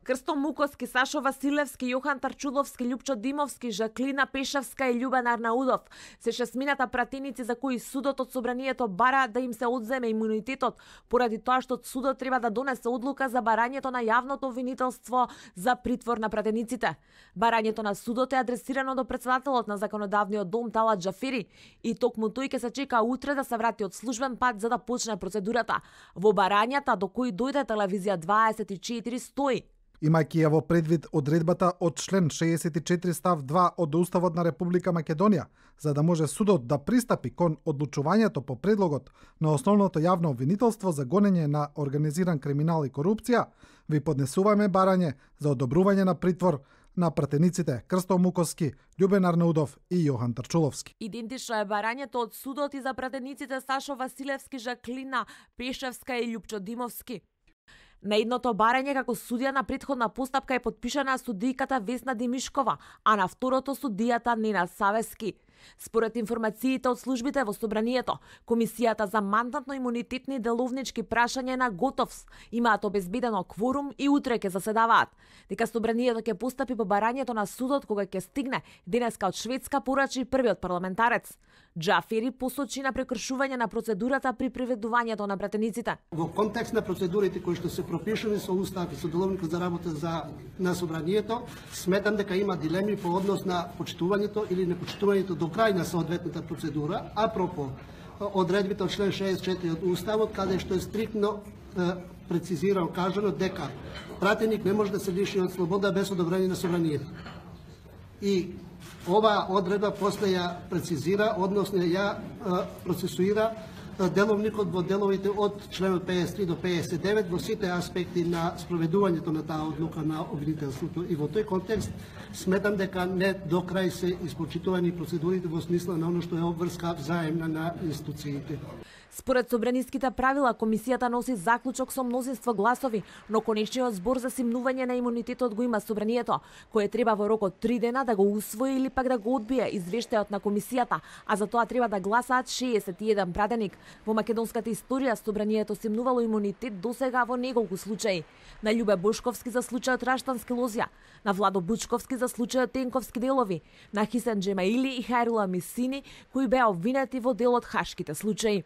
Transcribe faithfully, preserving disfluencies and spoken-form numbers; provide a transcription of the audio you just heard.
Крсто Мукоски, Сашо Василевски, Јохан Тарчуловски, Љупчо Димовски, Жаклина Пешевска и Љубен Арнаудов се шесмината пратеници за кои судот од собранието бара да им се одземе имунитетот, поради тоа што судот треба да донесе одлука за барањето на јавното обвинителство за притвор на пратениците. Барањето на судот е адресирано до председателот на законодавниот дом Талат Џафери и токму тој ќе се чека утре да се врати од службен пат за да почне процедурата. Во барањата до кои дојде телевизија дваесет и четири стои: имајќи ја во предвид одредбата од член шеесет и четири став два од Уставот на Република Македонија, за да може судот да пристапи кон одлучувањето по предлогот на основното јавно обвинителство за гонење на организиран криминал и корупција, ви поднесуваме барање за одобрување на притвор на пратениците Крсто Мукоски, Љубен Арнаудов и Јохан Тарчуловски. Идентично е барањето од судот и за пратениците Сашо Василевски, Жаклина Пешевска и Љупчо Димовски. На едното барање како судија на претходна постапка е подпишана судијката Весна Димишкова, а на второто судијата Нена Савески. Според информациите од службите во собранието, Комисијата за мандатно-имунитетни деловнички прашања на Готовс имаат обезбедено кворум и утре ќе заседаваат. Дека собранието ќе постапи по барањето на судот кога ќе стигне денеска од Шведска, порачи првиот парламентарец. Џафери посочи на прекршување на процедурата при приведувањето на пратениците. Во контекст на процедурите кои што се пропишани со Устав и со Деловникот за работа за на собранието, сметам дека има дилеми по однос на почитувањето или непочитувањето до крај на соодветната процедура, апропо одредбите од член шеесет и четири од Уставот, каде што е стриктно е, прецизирано кажано дека пратеник не може да се лиши од слобода без одобрение на собранието. И ова одредба после ја прецизира, односно ја е, процесуира деловникот во деловите од членот пеесет и три до пеесет и девет во сите аспекти на спроведувањето на таа одлука на обвинителството. И во тој контекст сметам дека не до крај се испочитувани процедурите во смисла на оно што е обврска взаемна на институциите. Според собраниските правила, комисијата носи заклучок со мнозинство гласови, но конечниот збор за симнување на имунитетот го има собранието, кое треба во рок од три дена да го усвои или пак да го одбие извештајот на комисијата, а за тоа треба да гласаат шеесет и еден пратеник. Во македонската историја собранието симнувало имунитет досега во неколку случаи. На Љубе Бошковски за случајот Раштански лозја, на Владо Бучковски за случајот Тенковски делови, на Хисен Джемаили и Хајрула Мисини, кои беа обвинети во дел од хашките случаи.